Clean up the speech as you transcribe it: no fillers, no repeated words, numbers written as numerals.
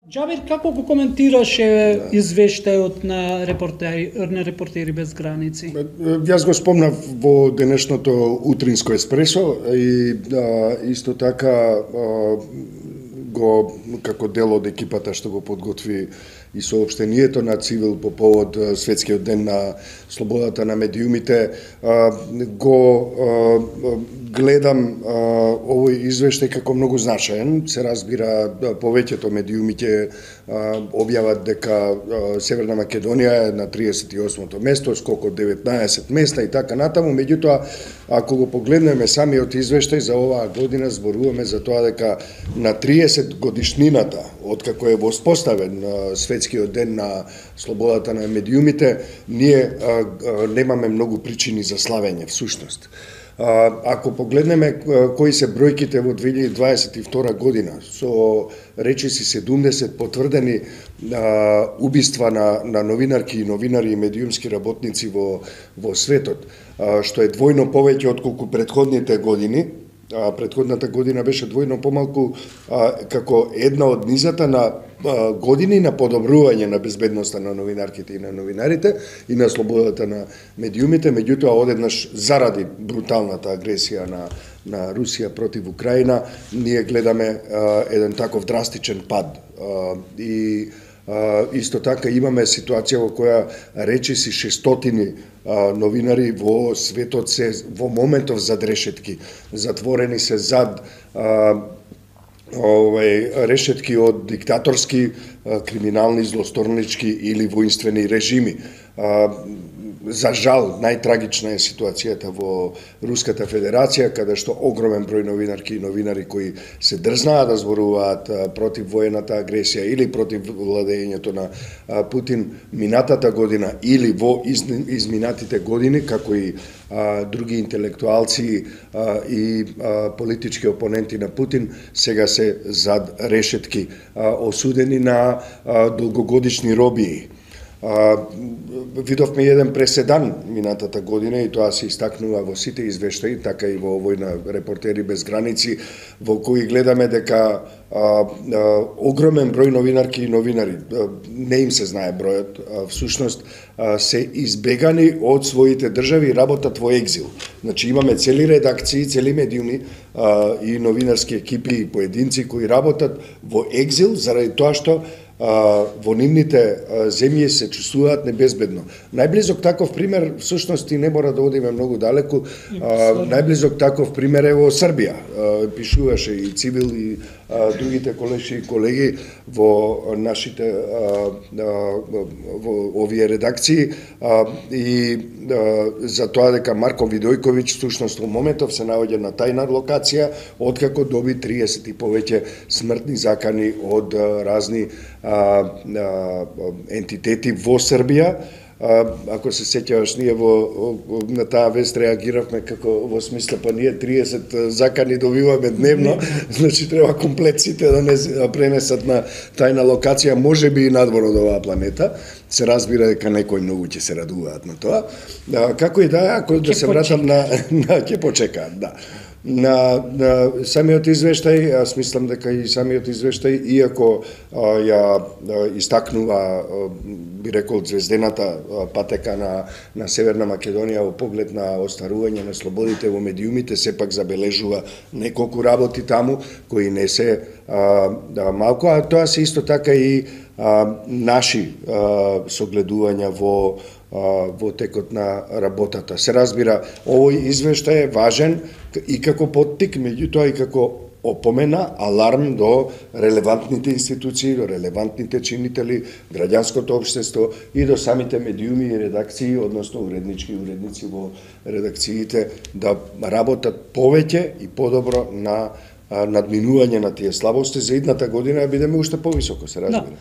Џабир, како го коментираше извештајот на репортери без граници? Јас го спомнав во денешното утринско еспресо и исто така го како дел од екипата што го подготви и соопштението на Цивил по повод Светскиот ден на слободата на медиумите, го гледам овој извештај како многу значаен. Се разбира, повеќето медиуми ќе објават дека Северна Македонија е на 38-то место, скок од 19 места и така натаму. Меѓутоа, ако го погледнеме самиот извештај за оваа година, зборуваме за тоа дека на 30 годишнината од како е воспоставен Светскиот ден на слободата на медиумите, ние немаме многу причини за славење всушност. Ако погледнеме кои се бројките во 2022 година, со речиси 70 потврдени убиства на новинарки и новинари и медиумски работници во светот, што е двојно повеќе отколку претходните години. Претходната година беше двојно помалку, како една од низата на години на подобрување на безбедноста на новинарките и на новинарите и на слободата на медиумите. Меѓутоа, одеднаш заради бруталната агресија на Русија против Украина, ние гледаме еден таков драстичен пад. И исто така имаме ситуација во која речиси 600 новинари во светот се во моментов зад решетки. Затворени се зад решетки од диктаторски, криминални, злосторнички или воинствени режими. За жал, најтрагична е ситуацијата во Руската Федерација, каде што огромен број новинарки и новинари кои се дрзнаат да зборуваат против воената агресија или против владењето на Путин минатата година или во изминатите години, како и други интелектуалци и политички опоненти на Путин, сега се зад решетки, осудени на долгогодишни робии. Видовме еден преседан минатата година и тоа се истакнува во сите извештаи, така и во овој на Репортери без граници, во кои гледаме дека огромен број новинарки и новинари, не им се знае бројот, всушност се избегани од своите држави и работат во екзил. Значи имаме цели редакции, цели медиуми и новинарски екипи и поединци кои работат во екзил заради тоа што во нивните земји се чувствуваат небезбедно. Најблизок таков пример, всушност и не мора да одиме многу далеку, најблизок таков пример е во Србија. Пишуваше и Цивил и другите колеши и колеги во нашите во овие редакции и за тоа дека Марко Видојковиќ всушност во моментов се наоѓа на тајна локација откако доби 30 и повеќе смртни закани од разни ентитети во Србија. Ако се сеќаваш, ние на таа вест реагиравме како во смисла, па ние 30 закани добиваме дневно, значи треба комплексите да не пренесат на тајна локација, можеби и надвор од оваа планета. Се разбира дека некои многу ќе се радуваат на тоа. Како и да, ако да се вратам ќе почекаат, да. На самиот извештај, јас мислам дека и самиот извештај, иако ја истакнува, би рекол, звездената патека на Северна Македонија во поглед на остварување на слободите во медиумите, сепак забележува неколку работи таму кои не се малку, а тоа се исто така и наши согледувања во текот на работата. Се разбира, овој извештај е важен и како поттик, меѓутоа и како опомена, аларм до релевантните институции, до релевантните чинители, граѓанското општество и до самите медиуми и редакции, односно уредници во редакциите, да работат повеќе и подобро на надминување на тие слабости. За идната година бидеме уште повисоко, се разбира.